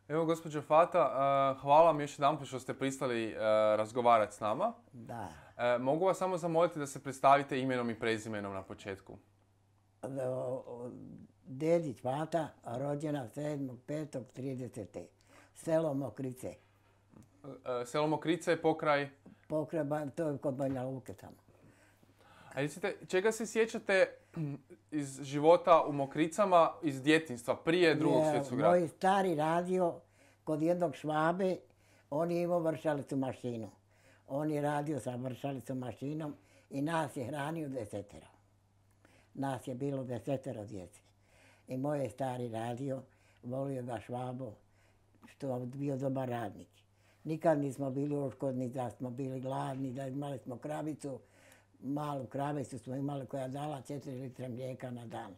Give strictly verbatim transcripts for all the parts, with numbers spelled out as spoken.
Evo, gospođo Fata, hvala vam još jedan put što ste pristali razgovarati s nama. Da. Mogu vas samo zamoliti da se predstavite imenom i prezimenom na početku? Dedić Fata, rođena sedmog petog tridesete. Selo Mokrice. Selo Mokrice je pokraj? Pokraj, to je kod Banja Luke tamo. A recite, čega se sjećate iz života u Mokricama iz djetinjstva, prije drugog svjetskog rata? Moj stari radio kod jednog Švabe, on je imao vršalicu mašinu. On je radio sa vršalicom mašinom i nas je hranio desetero. Nas je bilo desetero djece. I moj je stari radio, volio ga Švabo, što je bio dobar radnik. Nikad nismo bili oškodni da smo bili gladni, da imali smo kravicu, malu kravicu smo imali koja dala četiri litre mlijeka na dan.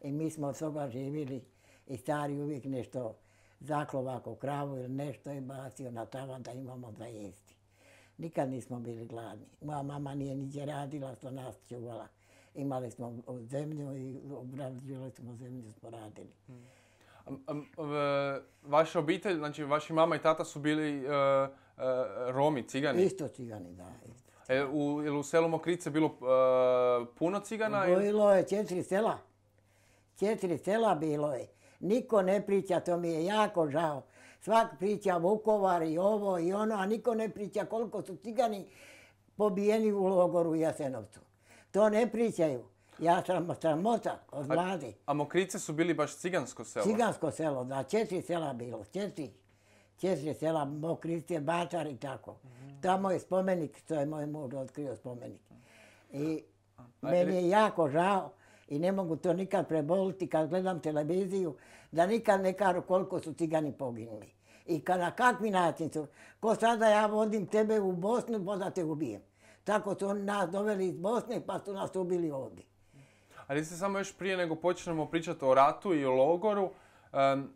I mi smo od toga živjeli i stari uvijek nešto zaklovako kravu ili nešto je bacio na tavan da imamo da jesti. Nikad nismo bili gladni. Moja mama nije niđe radila, što nas čuvala. Imali smo zemlju i obrađivali smo zemlju, smo radili. Hmm. A, a, vaša obitelj, znači vaši mama i tata su bili uh, uh, Romi, cigani? Isto cigani, da. Isto. E, u, je u selu Mokrice bilo uh, puno cigana? Bilo je četiri sela. Četiri sela bilo je. Niko ne priča, to mi je jako žao. Svak priča Vukovar i ovo i ono, a niko ne priča koliko su cigani pobijeni u logoru u Jasenovcu. To ne pričaju. Ja sam sramota od vlade. A, a Mokrice su bili baš cigansko selo? Cigansko selo, da. Četiri sela bilo. Četiri. Četiri sela, Mokrice, Bačar i tako. Mm-hmm. Tamo je spomenik, to je moj muž otkrio spomenik. I a, meni je jako žao i ne mogu to nikad preboliti kad gledam televiziju, da nikad ne kažu koliko su cigani poginuli. I kad na kakvi način su, ko sada ja vodim tebe u Bosnu, pa da te ubijem. Tako su oni nas doveli iz Bosne, pa su nas ubili ovdje. Ali se samo još prije nego počnemo pričati o ratu i o logoru, um,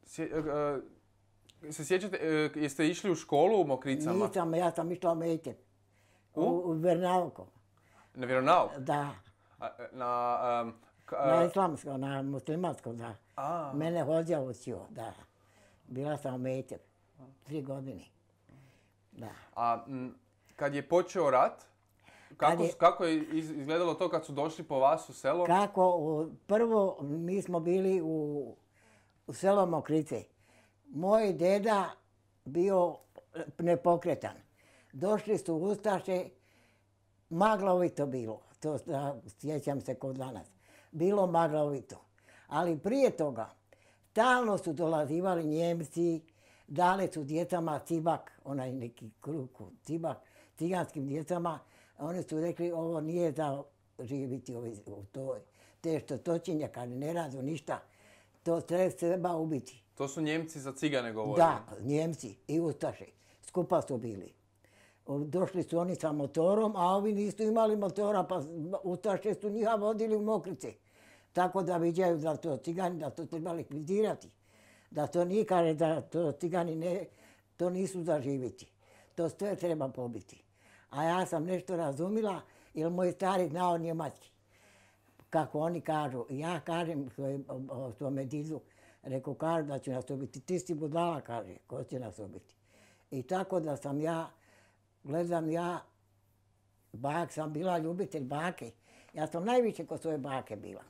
sje, uh, se sjećate, uh, jeste išli u školu u Mokricama? Nisam, ja sam išla u Mejtep. U? U Vernauko. Na vjeronauk? Da. A, na, um, ka, na islamsko, na muslimansko, da. A. Mene hođa učio, da. Bila sam u Mejtep. Tri godine. Da. A m, kad je počeo rat, Kako, je, kako je izgledalo to kad su došli po vas u selo? Kako, prvo mi smo bili u, u selo Mokrice. Moj deda bio nepokretan. Došli su ustaše, maglovito bilo. To da, sjećam se kod danas. Bilo maglovito. Ali prije toga, stalno su dolazivali Njemci, dali su djecama cibak, onaj neki kruku, cibak, ciganskim djecama. Oni su rekli, ovo nije za živiti u toj. Te što točenja, kad ne radu ništa, to treba ubiti. To su Njemci za cigane govorili? Da, Njemci i ustaše. Skupa su bili. Došli su oni sa motorom, a ovi nisu imali motora, pa ustaše su njiha vodili u Mokrice. Tako da viđaju da to cigani, da to treba likvidirati. Da to nije kaže da to cigani ne, to nisu za živiti. To sve treba pobiti. A ja sam nešto razumila, jer moj stari znao njemački. Kako oni kažu. Ja kažem svome didu, rekao, kažu da će nas ubiti. Ti si budala, kaže, ko će nas ubiti. I tako da sam ja, gledam ja, bak, sam bila ljubitelj bake. Ja sam najviše kod svoje bake bila.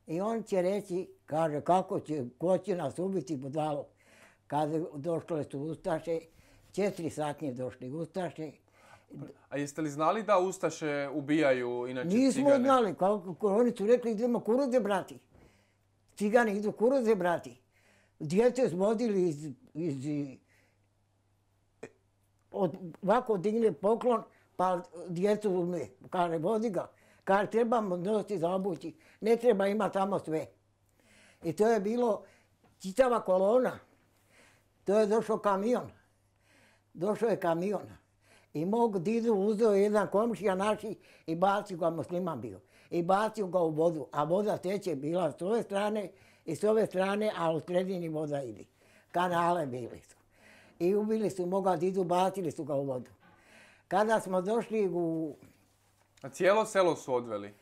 I on će reći, kaže, kako će, ko će nas ubiti budalo. Kada došle su ustaše, četiri satnje došli ustaše. A jeste li znali da ustaše ubijaju inače Nismo cigane? Nismo znali. Kako, oni su rekli idemo kuruze brati. Cigani idu kuruze brati. Djece su vodili iz... iz od, ovako digne poklon, pa djecu ume. Kaže, vodi ga. Kaže, trebamo nositi za obući. Ne treba ima tamo sve. I to je bilo čitava kolona. To je došao kamion. Došao je kamion. I mog didu uzeo jedan komšija naši i bacio ga, musliman bio. I bacio ga u vodu. A voda teče bila s ove strane i s ove strane, a u sredini voda ide. Kanale bili su. I ubili su moga didu, bacili su ga u vodu. Kada smo došli u, A cijelo selo su odveli?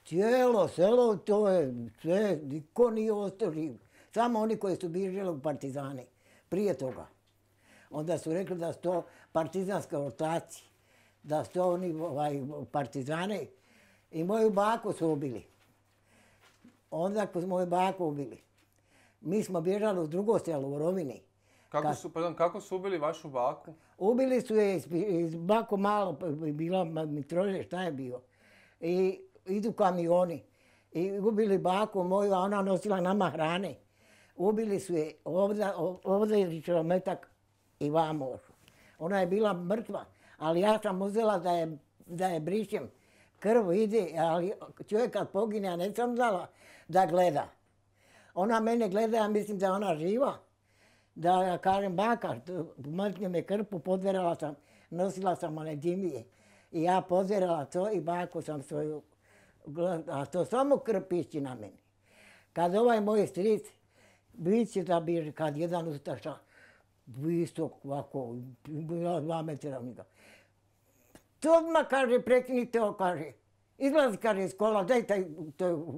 Cijelo selo, to je sve, niko nije ostao živ. Samo oni koji su bježali u partizane, prije toga. Onda su rekli da su to partizanske ortaci, da su to oni ovaj, partizane i moju baku su ubili. Onda ko su moju baku ubili. Mi smo bježali u drugo selo, u Rovini. Kako su, pardon, kako su ubili vašu baku? Ubili su je iz, iz bako malo, bila mitrože, šta je bio. I idu kamioni. I ubili baku moju, a ona nosila nama hrane. Ubili su je ovdje, ovdje je kilometak i vamo. Ona je bila mrtva, ali ja sam uzela da je, da je brišem. Krv ide, ali čovjek kad pogine, ja ne sam znala da gleda. Ona mene gleda, ja mislim da je ona živa. Da ja kažem, baka, mrtnje me krpu, podverala sam, nosila sam one dimije. I ja podverala to i baku sam svoju, a to samo krv pišći na meni. Kad ovaj moj stric, biće da bi, kad jedan ustaša, visok, ovako, dva metra njega. To odmah kaže, prekinite ovo, kaže. Izlazi, kaže, iz kola, daj taj, to,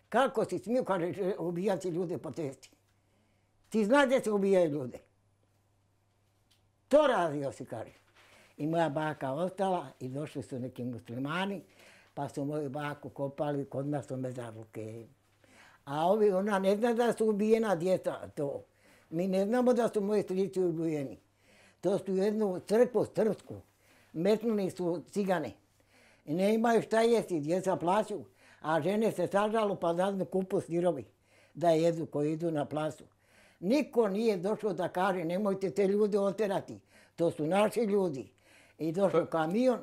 kako si smio, kaže, ubijati ljude po testi. Ti znaš gdje se ubijaju ljude. To radio si, kaže. I moja baka ostala i došli su neki muslimani, pa su moju baku kopali, kod nas su mezarluke. A ovi, ona ne zna da su ubijena djeca, to. Mi ne znamo da su moji strici ubijeni. To su jednu crkvu srpsku. Metnuli su cigane. I ne imaju šta jesti, djeca plaću, a žene se sažalu pa dadnu kupu sirovi da jedu koji idu na plasu. Niko nije došao da kaže nemojte te ljude oterati. To su naši ljudi. I došao kamion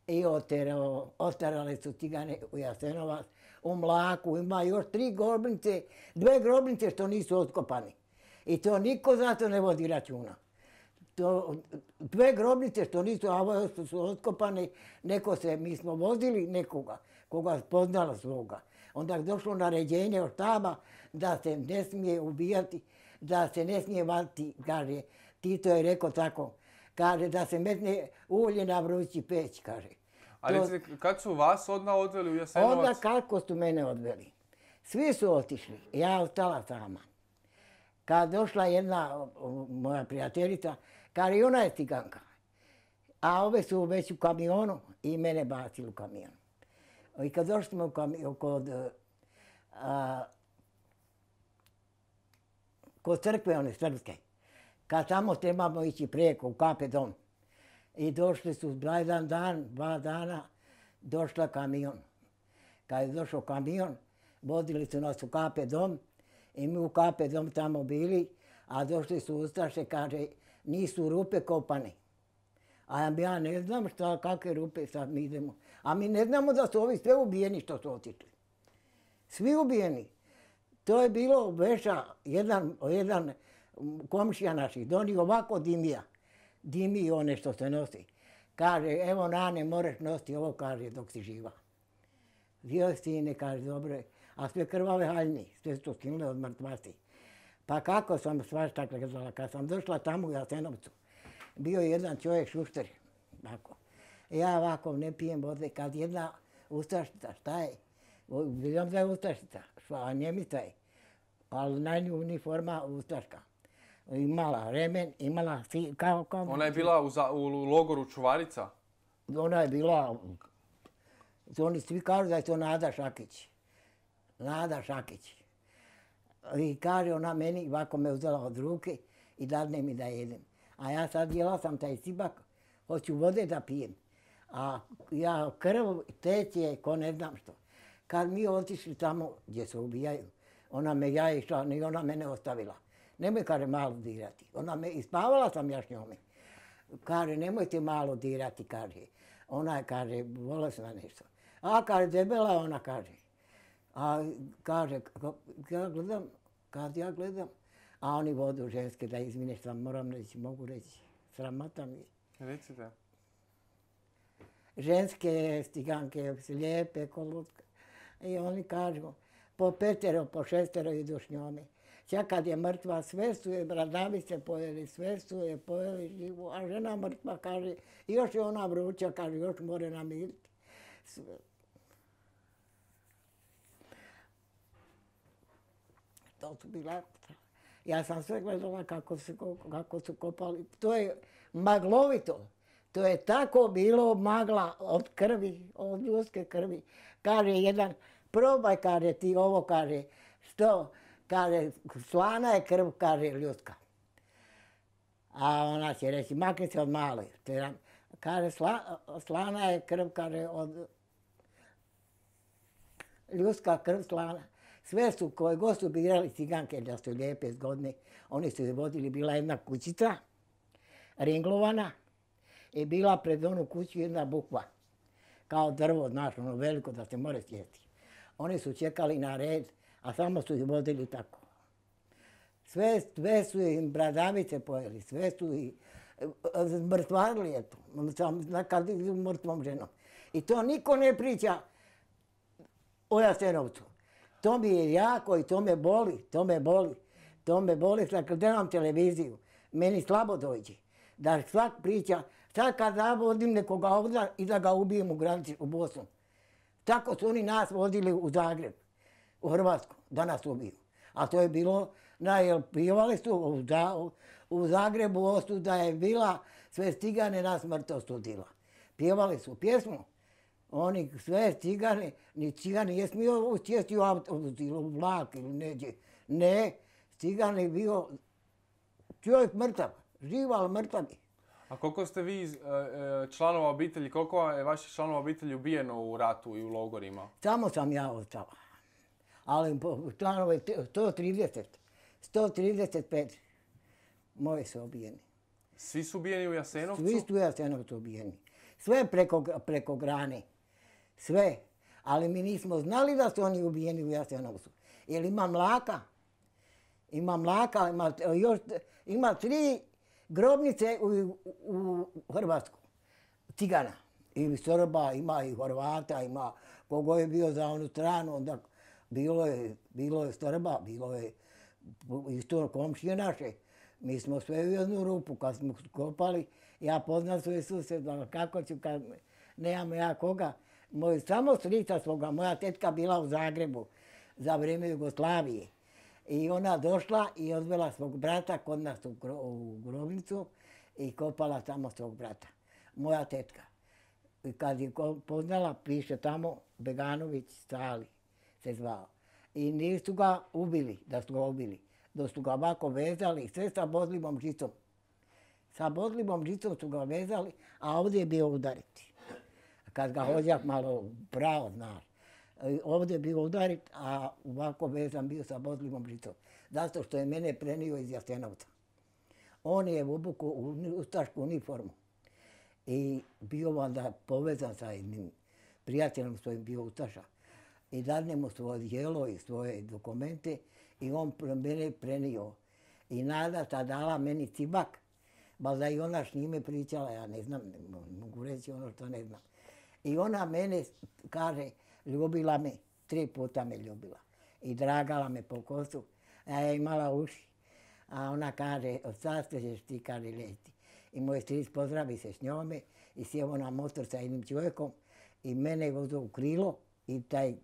i oterao, oterali su cigane u Jasenovac, u Mlaku. Ima još tri grobnice, dve grobnice što nisu otkopani. I to niko zato ne vodi računa. To, dve grobnice što nisu, a ovo su otkopane, neko se, mi smo vozili nekoga, koga poznala svoga. Onda je došlo naređenje od štaba da se ne smije ubijati, da se ne smije vaditi, kaže, Tito je rekao tako, kaže da se metne ulje na vrući peć, kaže. Ali to, kad su vas odmah odveli u Jasenovac? Onda kako su mene odveli. Svi su otišli, ja ostala sama. Kad došla jedna moja prijateljica, kaže i ona je ciganka. A ove su već u kamionu i mene bacili u kamion. I kad došli smo u kamion, kod, a, kod crkve one srpske, kad tamo trebamo ići preko u Kape dom. I došli su jedan dan, dva dana, došla kamion. Kad je došao kamion, vodili su nas u Kape dom i mi u Kape dom tamo bili, a došli su ustaše, kaže, nisu rupe kopane. A ja ne znam šta, kakve rupe sad mi idemo. A mi ne znamo da su ovi sve ubijeni što su otišli. Svi ubijeni. To je bilo veša, jedan, jedan komšija naših, donio ovako dimija. Dimi one što se nosi. Kaže, evo Nane, moraš nositi ovo, kaže, dok si živa. Vio sine, kaže, dobro. A sve krvave haljni, sve su skinule od mrtvaci. Pa kako sam svašta gledala, kad sam došla tamo u Jasenovcu, bio je jedan čovjek šušter, tako. Ja ovako ne pijem vode, kad jedna ustašica, šta je? Vidim da je ustašica, a Njemica je, ali na nju uniforma ustaška. Imala remen, imala si, kao, kao... Ona je bila u, za, u logoru Čuvarica? Ona je bila, oni svi kažu da je to Nada Šakić. Nada Šakić. I kaže ona meni, ovako me uzela od ruke i dadne mi da jedem. A ja sad jela sam taj cibak, hoću vode da pijem. A ja krv teče ko ne znam što. Kad mi otišli tamo gdje se ubijaju, ona me ja išla i ona mene ostavila. Nemoj, kaže, malo dirati. Ona me, ispavala sam ja s njome. Kaže, nemojte malo dirati, kaže. Ona je, kaže, bolesna nešto. A, kaže, debela ona, kaže. A, kaže, ja gledam, kad ja gledam, a oni vodu ženske, da izmine što moram reći, mogu reći, sramota mi. Recite. Ženske stiganke, lijepe, kolutke. I oni kažu, po petero, po šestero idu s njome. Čak kad je mrtva, sve su je, bradavi se pojeli, sve su je pojeli živu, a žena mrtva kaže, još je ona vruća, kaže, još more namiriti. Sve. To su bila... Ja sam sve gledala kako su, kako su kopali. To je maglovito. To je tako bilo magla od krvi, od ljudske krvi. Kaže jedan, probaj, kaže ti ovo, kaže, što? Kaže, slana je krv, kaže ljudska. A ona će reći, makni se od male. Kaže, sla, slana je krv, kaže, od ljudska krv slana. Sve su, koje god su birali ciganke da su lijepe, zgodne, oni su je vodili, bila jedna kućica, ringlovana, i bila pred onu kuću jedna bukva, kao drvo, znaš, ono veliko da se more sjeti. Oni su čekali na red, a samo su ih vodili tako. Sve, sve su im bradavice pojeli, sve su ih mrtvarili, eto, kad idu mrtvom ženom. I to niko ne priča o Jasenovcu. To mi je jako i to me boli, to me boli. To me boli, kad gledam televiziju, meni slabo dođe. Da svak priča, sad kad zavodim nekoga ovdje i da ga ubijem u granici u Bosnu. Tako su oni nas vodili u Zagreb, u Hrvatsku, da nas ubiju. A to je bilo, jel pivali su u, u Zagrebu ostu da je bila sve cigane na smrt ostudila. Pjevali su pjesmu. Oni sve cigane, ni cigane je smio sjesti u autobus ili u vlak ili neđe. Ne, cigan je bio čovjek mrtav, živ, ali mrtav je. A koliko ste vi članova obitelji, koliko je vaših članova obitelji ubijeno u ratu i u logorima? Samo sam ja ostala. Ali članove sto trideset, sto trideset pet moji su ubijeni. Svi su ubijeni u Jasenovcu? Svi su u Jasenovcu ubijeni. Sve preko, preko grane. Sve. Ali mi nismo znali da su oni ubijeni u Jasenovcu. Jer ima mlaka. Ima mlaka, ima, još, ima tri grobnice u, u Hrvatsku. Cigana. I Srba, ima i Horvata, ima kogo je bio za onu stranu. Onda bilo je, bilo je Srba, bilo je isto komšije naše. Mi smo sve u jednu rupu kad smo kopali. Ja poznam svoje susjeda, kako ću kad nemam ja koga. Moj, samo strica svoga, moja tetka bila u Zagrebu za vrijeme Jugoslavije. I ona došla i odvela svog brata kod nas u, gro, u grobnicu i kopala tamo svog brata. Moja tetka. I kad je poznala, piše tamo Beganović Stali se zvao. I nisu ga ubili, da su ga ubili. Da su ga ovako vezali, sve sa bodljivom žicom. Sa bodljivom žicom su ga vezali, a ovdje je bio udariti. Kad ga hođak malo pravo, znaš. Ovdje je bio udarit, a ovako vezan bio sa bodljivom žicom. Zato što je mene prenio iz Jasenovca. On je u obuku u ustašku uniformu. I bio onda povezan sa jednim prijateljem svojim bio ustaša. I dadne mu svoje dijelo i svoje dokumente i on mene prenio. I Nada ta dala meni cibak, ba da i ona s njime pričala, ja ne znam, ne mogu reći ono što ne znam. I ona mene, kaže, ljubila me, tri puta me ljubila. I dragala me po kosu, a ja imala uši. A ona kaže, od sad ćeš ti, kaže, leti. I moj stric pozdravi se s njome i sjeo na motor sa jednim čovjekom i mene vozio u krilo i taj,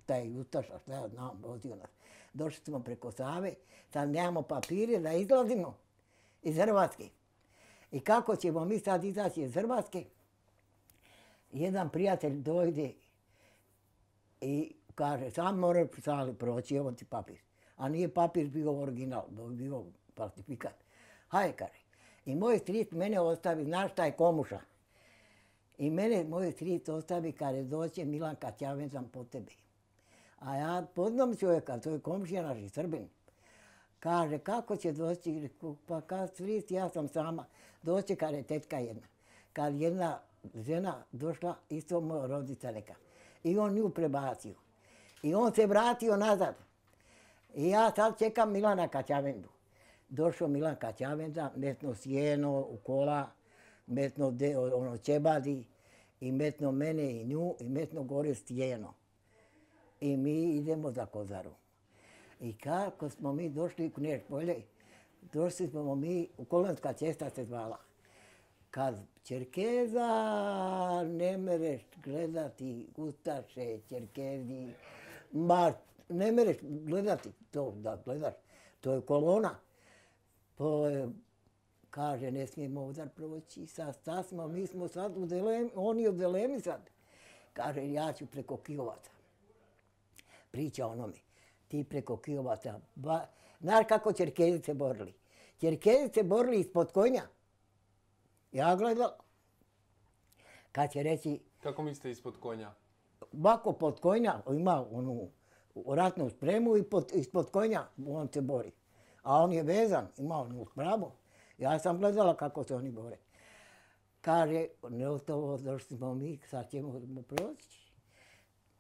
taj ustaša, šta ja znam, vozio nas. Došli smo preko Save, sad nemamo papire da izlazimo iz Hrvatske. I kako ćemo mi sad izaći iz Hrvatske? Jedan prijatelj dojde i kaže, sam moraš sali proći, evo ti papir. A nije papir bio original, bio falsifikat. Hajde, kaže. I moj stric mene ostavi, znaš šta je Komuša. I mene moj stric ostavi, kaže, doće Milanka Ćavezan po tebi. A ja poznam čovjeka, to je komšija naš i Srbin. Kaže, kako će doći, pa kad stric, ja sam sama. Doće, kaže, tetka jedna. Kad jedna žena došla, isto moja rodica neka. I on nju prebacio. I on se vratio nazad. I ja sad čekam Milana Kaćavendu. Došao Milan Kaćavenda, metno sjeno u kola, metno de, ono čebadi i metno mene i nju i metno gore stijeno. I mi idemo za Kozaru. I kako smo mi došli u Knješ polje, došli smo mi, u Kolonska cesta se zvala. Kad Čerkeza ne mereš gledati ustaše, Čerkezi, ma ne mereš gledati to, da gledaš, to je kolona. To je, kaže, ne smijemo udar proći, sad, sad smo, mi smo sad u dilemi, oni u dilemi sad. Kaže, ja ću preko Kijovaca. Priča onome, ti preko Kijovaca. Ba, znaš kako Čerkezi se borili? Čerkezi se borili ispod konja. Ja gledala. Kad će reći... Kako mislite ispod konja? Bako pod konja, ima onu ratnu spremu i pod, ispod konja on se bori. A on je vezan, ima onu spravu. Ja sam gledala kako se oni bore. Kaže, gotovo došli smo mi, sad ćemo proći.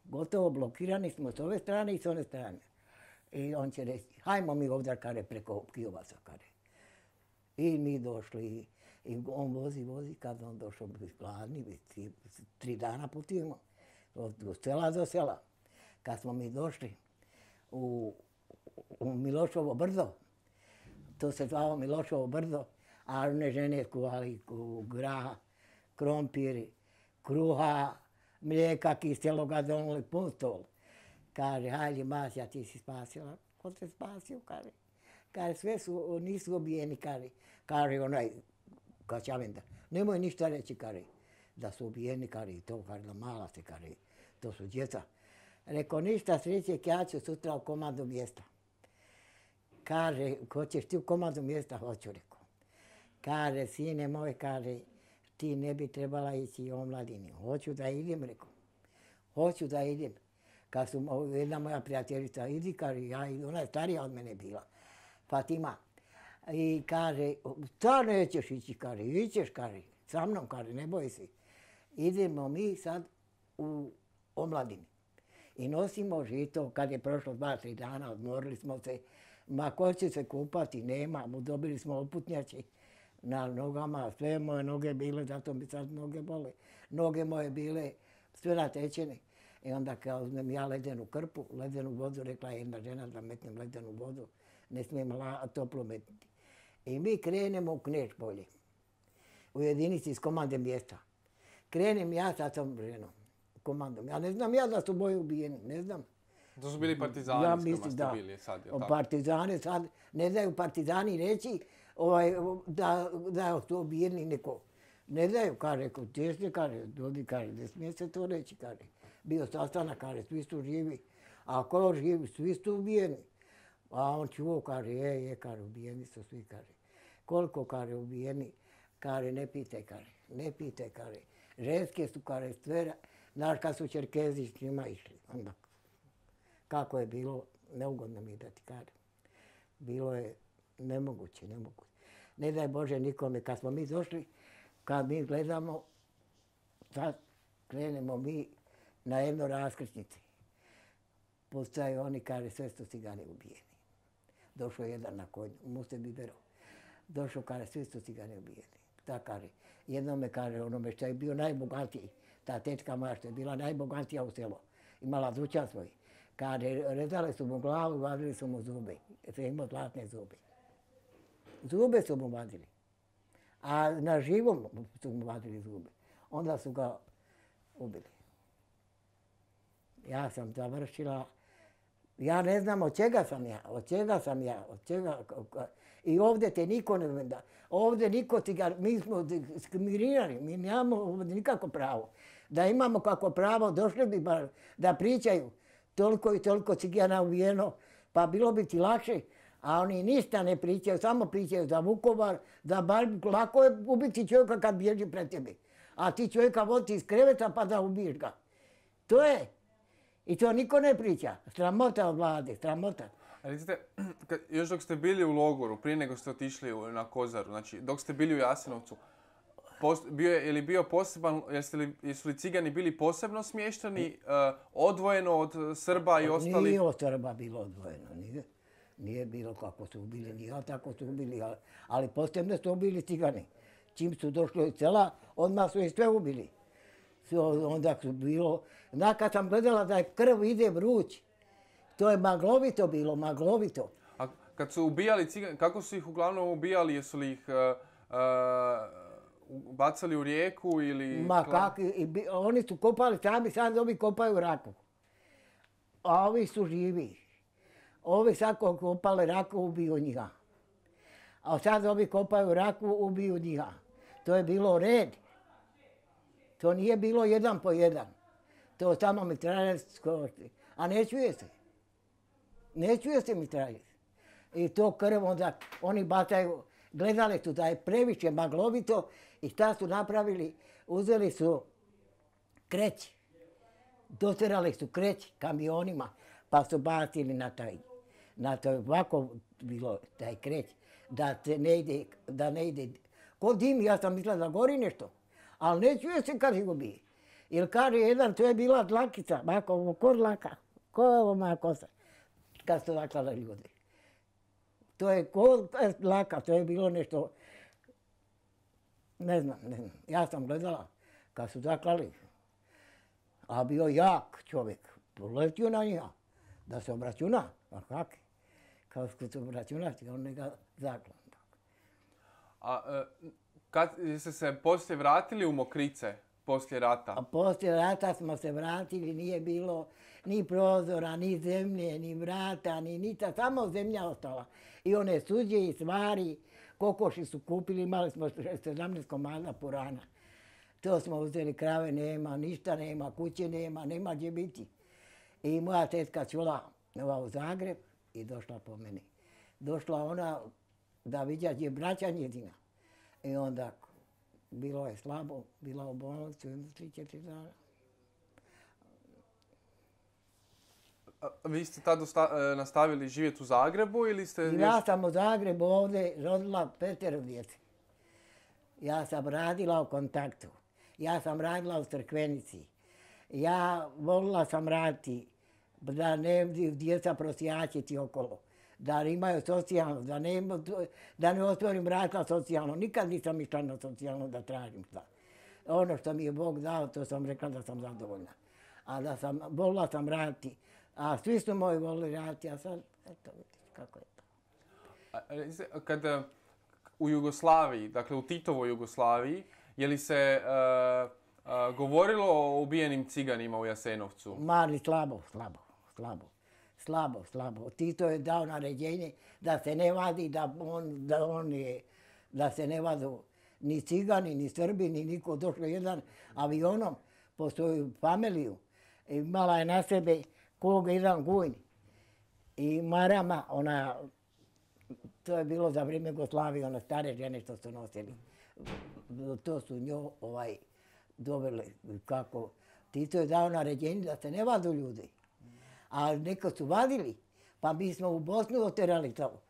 Gotovo blokirani smo s ove strane i s one strane. I on će reći, hajmo mi ovdje, kaže, preko Kijovaca, kaže. I mi došli, i on vozi, vozi, kad on došao, bi gladni, bi tri, tri dana putujemo, od sela do sela. Kad smo mi došli u, u Milošovo brdo, to se zvalo Milošovo brdo, a one žene kuvali graha, krompir, kruha, mlijeka kiseloga, donuli pun stol. Kaže, hajde Masja, ti si spasila. Ko te spasio, kaže. Kaže, sve su, nisu ubijeni, kaže. Kaže onaj Kačavenda. Nemoj ništa reći, kaže, da su ubijeni, kaže, i to, kaže, da mala se, kaže, to su djeca. Rekao, ništa sreće, ja ću sutra u komandu mjesta. Kaže, hoćeš ti u komandu mjesta? Hoću, rekao. Kaže, sine moj, kaže, ti ne bi trebala ići u omladini. Hoću da idem, rekao. Hoću da idem. Kad su jedna moja prijateljica, idi, kaže, ja idem, ona je starija od mene bila, Fatima. I kaže, šta nećeš ići, kaže, ićeš, kaže, sa mnom, kaže, ne boj se. Idemo mi sad u omladini. I nosimo žito, kad je prošlo dva, tri dana, odmorili smo se. Ma ko će se kupati, nema, dobili smo oputnjači na nogama, sve moje noge bile, zato mi sad noge bole. Noge moje bile sve natečene. I onda kao uzmem ja ledenu krpu, ledenu vodu, rekla je jedna žena da metnem ledenu vodu, ne smijem la, toplo metniti. I mi krenemo u Kneš polje, u jedinici iz komande mjesta. Krenem ja sa tom ženom, komandom. Ja ne znam ja da su boje ubijeni, ne znam. To su bili partizani ja s kojima ste da, bili sad, je li tako? Partizani sad, ne daju partizani reći ovaj, da, da su ubijeni neko. Ne daju, kaže, kod teške, kaže, ljudi, kaže, ne smije se to reći, kaže. Bio sastanak, kaže, svi su živi. A ko živi, svi su ubijeni. A on čuo, kaže, je, je, kaže, ubijeni su svi, kaže. Koliko, kaže, ubijeni, kaže, ne pitaj, kaže, ne pitaj, kaže. Ženske su, kaže, sve, znaš kad su Čerkezi s njima išli, onda kako je bilo, neugodno mi da ti kažem. Bilo je nemoguće, nemoguće. Ne daj Bože nikome, kad smo mi došli, kad mi gledamo, sad krenemo mi na jedno raskrsnici. Postaje oni, kaže, sve su cigani ubijeni. Došao jedan na konju, Muse Bibero. Došao, kaže, svi su cigani ubijeni. Ta kaže, jednome kaže, onome što je bio najbogatiji, ta tečka moja što je bila najbogatija u selu, imala dućan svoj. Kaže, rezali su mu glavu, vadili su mu zube, jer je imao zlatne zube. Zube su mu vadili. A na živom su mu vadili zube. Onda su ga ubili. Ja sam završila, ja ne znam od čega sam ja, od čega sam ja, od čega... I ovdje te niko ne venda. Ovdje niko ti ga, mi smo diskriminirani, mi nemamo ovdje nikako pravo. Da imamo kako pravo, došli bi bar da pričaju toliko i toliko cigana ubijeno, pa bilo bi ti lakše. A oni ništa ne pričaju, samo pričaju za Vukovar, da bar lako je ubiti čovjeka kad bježi pred tebi. A ti čovjeka vodi iz kreveta pa da ubiješ ga. To je. I to niko ne priča. Sramota od vlade, sramota. A recite, još dok ste bili u logoru, prije nego ste otišli na Kozaru, znači dok ste bili u Jasenovcu, post, bio je, je li bio poseban, jesu li, jesu li cigani bili posebno smješteni, uh, odvojeno od Srba i ostali? Nije od Srba bilo odvojeno, nije. Nije bilo kako su ubili, nije tako su ubili, ali, ali posebno su ubili cigani. Čim su došli iz sela, odmah su ih sve ubili. Onda su bilo, zna kad sam gledala da je krv ide vruć, to je maglovito bilo, maglovito. A kad su ubijali cigani, kako su ih uglavnom ubijali? Jesu li ih uh, uh, bacali u rijeku ili... Ma kako, oni su kopali sami, sad ovi kopaju raku. A ovi su živi. Ovi sad ko kopali raku, ubiju njega. A sad ovi kopaju raku, ubiju njega. To je bilo red. To nije bilo jedan po jedan. To samo mitraljec košti. A ne čuje se. Ne čuje se mitraljec. I to krv onda oni bacaju. Gledali su da je previše maglovito i šta su napravili? Uzeli su kreć. Doterali su kreć kamionima pa su bacili na taj. Na to ovako bilo taj kreć. Da se ne ide, da ne ide. Ko dim, ja sam mislila da gori nešto. Ali ne čuje se kad ga bije. Jer kaže jedan, to je bila dlakica, ovako, ko dlaka, ko je ovo moja kosa, kad su zaklali ljudi. To je ko dlaka, to je bilo nešto, ne znam, ne znam. Ja sam gledala kad su zaklali, a bio jak čovjek, poletio na njega, da se obračuna, a kak? Kao se obračunati, on ne ga zaklan. A kad ste se poslije vratili u Mokrice? Poslije rata? A poslije rata smo se vratili, nije bilo ni prozora, ni zemlje, ni vrata, ni ništa, samo zemlja ostala. I one suđe i stvari, kokoši su kupili, imali smo sedamnaest komada purana. To smo uzeli, krave nema, ništa nema, kuće nema, nema gdje biti. I moja tetka čula u Zagreb i došla po meni. Došla ona da vidja gdje je braća njezina. I onda bilo je slabo, bila u bolnicu, tri, četiri dana. Vi ste tada nastavili živjeti u Zagrebu ili ste... Ja sam u Zagrebu ovdje rodila petero djece. Ja sam radila u Kontaktu. Ja sam radila u Crkvenici. Ja volila sam raditi da ne djeca prosjačiti okolo. Da imaju socijalno, da ne, da ne otvorim vrata socijalno. Nikad nisam išla na socijalno da tražim šta. Ono što mi je Bog dao, to sam rekla da sam zadovoljna. A da sam, volila sam raditi. A svi su moji volili raditi, a sad, eto, vidiš kako je to. Kada u Jugoslaviji, dakle u Titovoj Jugoslaviji, je li se uh, uh, govorilo o ubijenim ciganima u Jasenovcu? Mali, slabo, slabo, slabo. Slabo, slabo. Tito je dao naređenje da se ne vadi, da, on, da, on je, da se ne vadu ni cigani, ni Srbi, ni niko. Došlo jedan avionom po svoju familiju. Imala je na sebe koga jedan gujn. I marama, ona, to je bilo za vrijeme Jugoslavije, one stare žene što su nosili. To su njo ovaj, doveli kako. Tito je dao naređenje da se ne vadu ljudi. A neko su vadili, pa mi smo u Bosnu oterali to.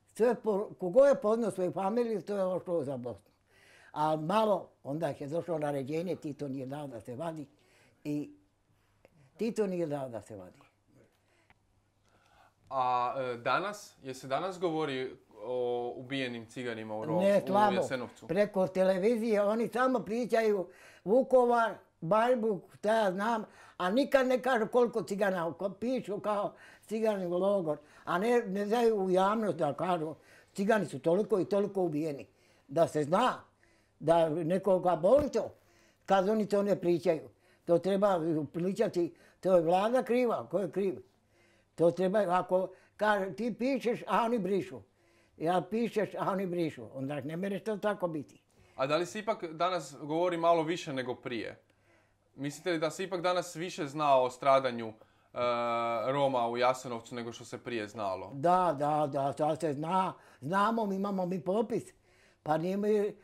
Sve, kogo je poznao svoju familiju, to je ošlo za Bosnu. A malo, onda je došlo naređenje, Tito nije dao da se vadi i Tito nije dao da se vadi. A e, danas, je se danas govori o ubijenim ciganima u, Rom, ne, slabo. u Jasenovcu? Preko televizije oni samo pričaju Vukovar, Bajbuk, šta ja znam, a nikad ne kažu koliko cigana, pišu kao cigani u logor, a ne, ne daju u javnost da kažu cigani su toliko i toliko ubijeni. Da se zna, da nekoga boli to, kad oni to ne pričaju. To treba pričati, to je vlada kriva, ko je kriv. To treba, ako kaže, ti pišeš, a oni brišu. Ja pišeš, a oni brišu. Onda ne mereš to tako biti. A da li se ipak danas govori malo više nego prije? Mislite li da se ipak danas više zna o stradanju uh, Roma u Jasenovcu nego što se prije znalo? Da, da, da, to se zna. Znamo, mi imamo mi popis. Pa nije mi,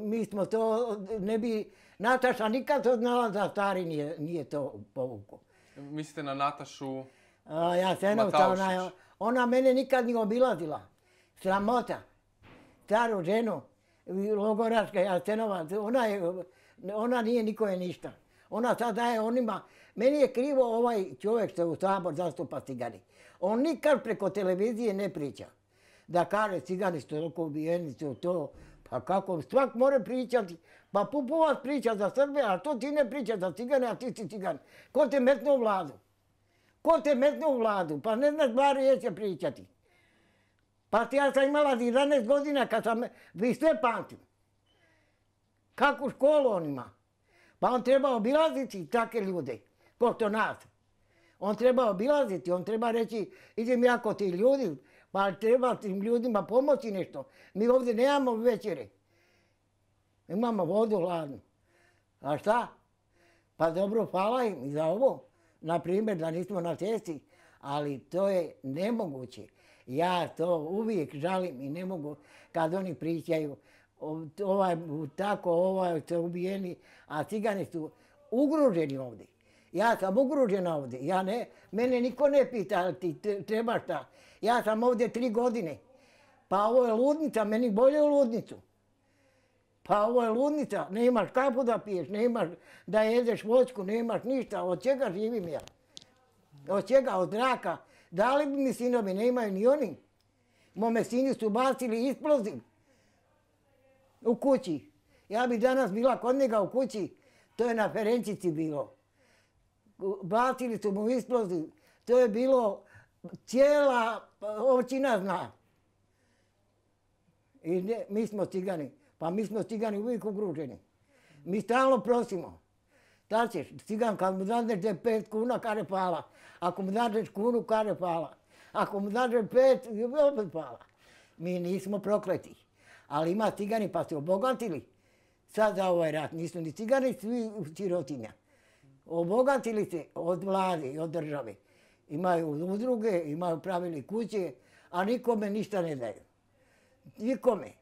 mi smo to, ne bi, Nataša nikad to znala da stari nije, nije to povukao. Mislite na Natašu A, Jasenovca, ona, ona mene nikad nije obilazila. Sramota. Staru ženu, logoraška Jasenovac, ona, je, ona nije nikoje ništa. Ona sad daje onima, meni je krivo ovaj čovjek što je u Sabor zastupa cigani. On nikad preko televizije ne priča. Da kaže cigani su toliko ubijeni, su to, pa kako, svak mora pričati. Pa Pupovac priča za Srbe, a to ti ne priča za cigane, a ti si cigan. Ko te metne u vladu? Ko te metne u vladu? Pa ne znaš bar riječe pričati. Pa ja sam imala jedanaest godina kad sam, vi sve pamtim. Kakvu školu on ima? Pa on treba obilaziti takve ljude, ko to nas. On treba obilaziti, on treba reći, idem ja kod tih ljudi, pa treba tim ljudima pomoći nešto. Mi ovdje nemamo večere. Imamo vodu hladnu. A šta? Pa dobro, hvala im i za ovo. Na primjer, da nismo na cesti, ali to je nemoguće. Ja to uvijek žalim i ne mogu kad oni pričaju ovaj, tako, ovaj su ubijeni, a cigani su ugroženi ovdje. Ja sam ugrožena ovdje. Ja ne, mene niko ne pita ti treba šta. Ja sam ovdje tri godine. Pa ovo je ludnica, meni bolje u ludnicu. Pa ovo je ludnica, nemaš kapu da piješ, nemaš da jedeš voćku, nemaš ništa. Od čega živim ja? Od čega? Od zraka. Dali bi mi sinovi, nemaju ni oni. Mome sini su bacili isploziv u kući. Ja bi danas bila kod njega u kući, to je na Ferencici bilo. Bacili su mu isploziv, to je bilo, cijela općina zna. I ne, mi smo cigani, pa mi smo cigani uvijek ugruženi. Mi stalno prosimo. Da ćeš, cigan kad mu dadneš pet kuna, kare pala. Ako mu dadneš kunu, kare pala. Ako mu dadneš pet, opet pala. Mi nismo prokleti. Ali ima cigani pa se obogatili. Sad za ovaj rat nisu ni cigani, svi sirotinja. Obogatili se od vlade i od države. Imaju udruge, imaju pravili kuće, a nikome ništa ne daju. Nikome.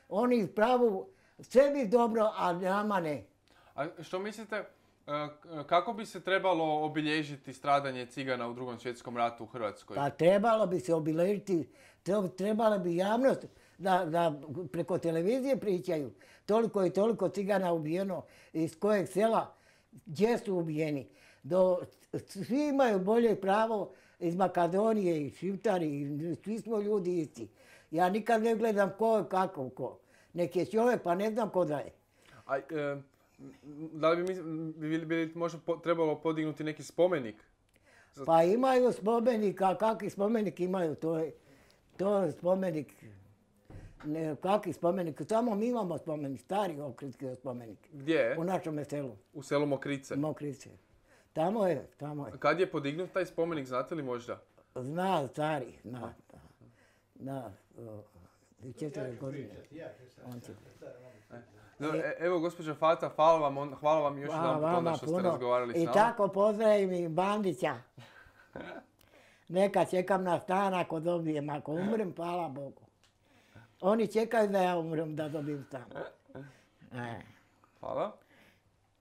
Oni pravu sebi dobro, a nama ne. A što mislite, kako bi se trebalo obilježiti stradanje cigana u drugom svjetskom ratu u Hrvatskoj? Pa trebalo bi se obilježiti, trebalo bi javnost da, da preko televizije pričaju. Toliko i toliko cigana ubijeno, iz kojeg sela, gdje su ubijeni. Do, svi imaju bolje pravo iz Makedonije i Šiptari, svi smo ljudi isti. Ja nikad ne gledam ko je kako ko. Nek je čovjek, pa ne znam ko da je. A, e, da li bi, bi, bi možda po, trebalo podignuti neki spomenik? Za... Pa imaju spomenik, a kakvi spomenik imaju, to je, to je spomenik. Ne, kakvi spomenik? Samo mi imamo spomenik, stari okritski spomenik. Gdje je? U našem selu. U selu Mokrice? Mokrice. Tamo je, tamo je. Kad je podignut taj spomenik, znate li možda? Zna, stari, zna. Da, četiri godine. On će... No, evo, gospođa Fata, hvala vam, hvala vam još jedan put onda što ste razgovarali s nama. I tako pozdravim i Bandića. Neka čekam na stan ako dobijem, ako umrem, hvala Bogu. Oni čekaju da ja umrem, da dobijem stan. Hvala.